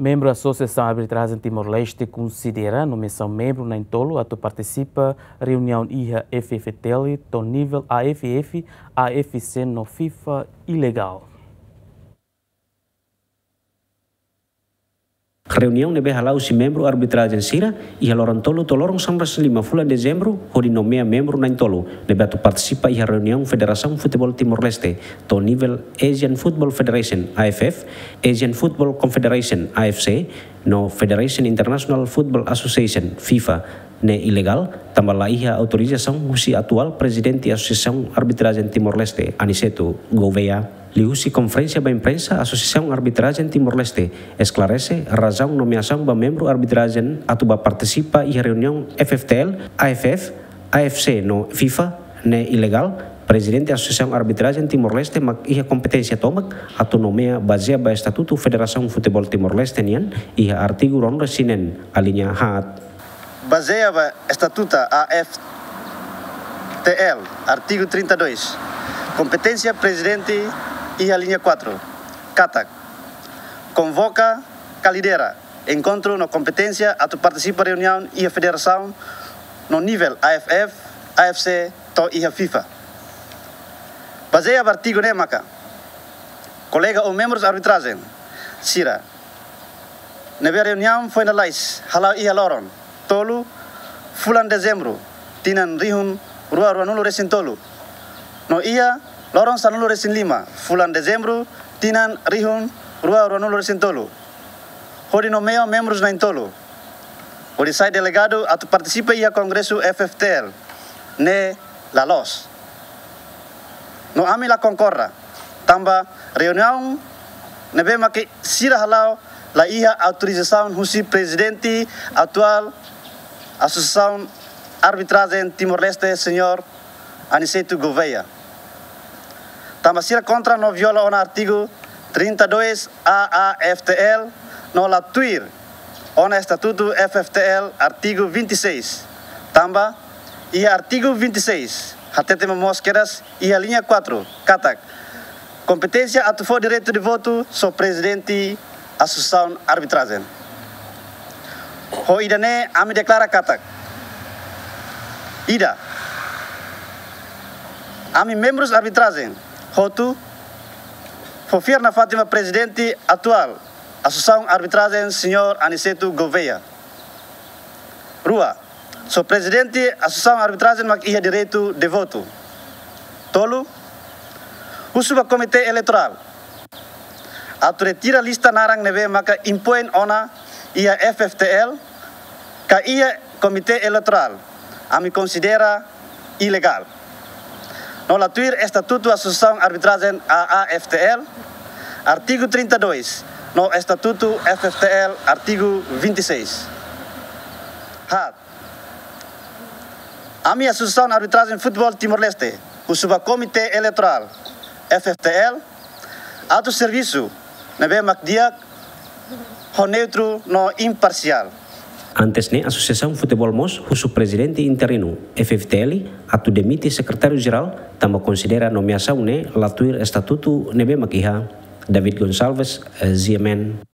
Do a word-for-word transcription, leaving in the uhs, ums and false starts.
Membru Asosiasaun Arbitrajen Timor-Leste konsidera nomeasaun membru na'in-tolu atu partisipa reuniaun iha F F T L to'o nivel A F F, A F C no FIFA ilegál. Reuniaun ne'ebé hala'o husi membru arbitrajen sira iha loron tolu to'o loron sanulu-resin lima fulan Dezembru, hodi nomeia membru na'in-tolu ne'ebé atu partisipa iha reuniaun Federasaun Futeból Timor-Leste to'o nivel Asian Football Federation, A F F, Asian Football Confederation, A F C, no Federation International Football Association, FIFA, ne'e ilegál, tanba la iha autorizasaun husi atuál Prezidente Asosiasaun Arbitrajen Timor-Leste, Aniceto Gouveia. Liuhusi konferénsia ba imprensa, Asosiasaun Arbitrajen Timor-Leste esklarese razaun nomeasaun ba membru arbitrajen atu bá partisipa iha reuniaun F F T L, A F F, A F C no FIFA ne'e ilegál. Prezidente Asosiasaun Arbitrajen Timor-Leste mak iha kompeténsia tomak atu nomeia bazeia ba Estatutu Federasaun Futeból Timor-Leste nian iha artigu ruanulu-resin-neen, alínea haat. Bazeia ba Estatutu A F T L, artigu trinta e dois, kompeténsia Prezidente iha alínea quatro, katak: konvoka ka lidera enkontru no kompeténsia atu partisipa reuniaun iha federasaun no nivel A F F, A F C to'o iha FIFA. Bazeia ba artigu ne'e maka kolega ou membrus arbitrajen sira ne'ebé reuniaun foin lalais hala'o iha loron tolu fulan Dezembru, tinan rihun rua ruanulu-resin-tolu, no iha loron sanulu-resin-lima fulan Dezembru, tinan rihun rua ruanulu-resin-tolu, hodi nomeia membrus na'in-tolu hodi sai delegadu atu partisipa iha kongresu F F T L ne'e la loos. No ami la konkorda, tanba reuniaun ne'ebé mak sira hala'o la iha autorizasaun husi Prezidente atuál Asosiasaun Arbitrajen Timor-Leste, Señór Aniceto Gouveia. Tanba sira kontra no viola ona artigu trinta e dois A A F T L no la tuir ona Estatutu F F T L artigu vinte e seis. Tanba iha artigu vinte e seis hatete momoos kedas iha alínea quatro katak kompeténsia atu fó direitu de votu só Prezidente Asosiasaun Arbitrajen. Ho ida-ne'e ami deklara katak: ida, ami membrus arbitrajen hotu fó fiar nafatin ba Prezidente atuál Asosiasaun Arbitrajen, Señór Aniceto Gouveia. Rua, só Prezidente Asosiasaun Arbitrajen mak iha direitu de votu. Tolu, husu ba Komité Eleitorál atu retira lista naran ne'ebé maka impoin ona iha F F T L ka iha Komité Eleitorál, ami konsidera ilegál. No la tuir Estatutu Asosiasaun Arbitrajen A A F T L, artigu trinta e dois, no Estatutu F F T L, artigu vinte e seis. Haat, ami Asosiasaun Arbitrajen Futeból Timor-Leste husu ba Komité Eleitorál, F F T L, atu servisu ne'ebé mak di'ak ho neutru no imparsiál. Antes ne'e, Asosiasaun Futeból mós husu Prezidente Interinu, F F T L, atu demite Sekretáriu Jerál, tanba konsidera nomeasaun ne'e la tuir estatutu ne'ebé mak iha. David Gonçalves, eh, G M N.